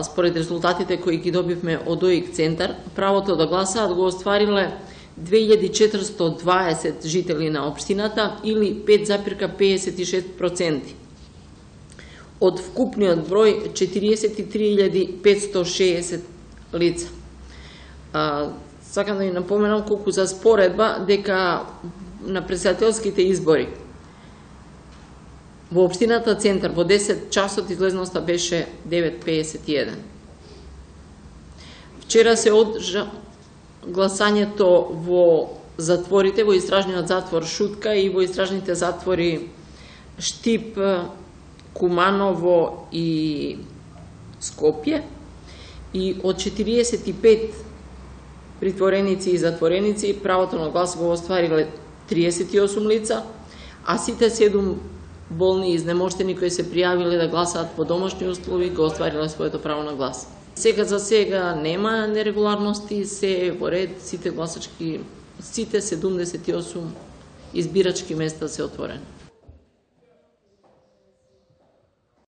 Според резултатите кои ги добивме од ОИК центар, правото да гласаат го оствариле 2420 жители на општината или 5,56% од вкупниот број 43.560 лица. Сакам да ви напоменам колку за споредба дека на председателските избори во општината Центар во 10 часот излезноста беше 9,51. Вчера се одржа гласањето во затворите, во истражниот затвор Шутка и во истражните затвори Штип, Куманово и Скопје, и од 45 притвореници и затвореници правото на глас го оствариле 38 лица, а сите 7 болни и изнемоштени кои се пријавиле да гласаат по домашни услови го оствариле своето право на глас. Сега за сега нема нерегуларности, се во ред, сите 78 избирачки места се отворени.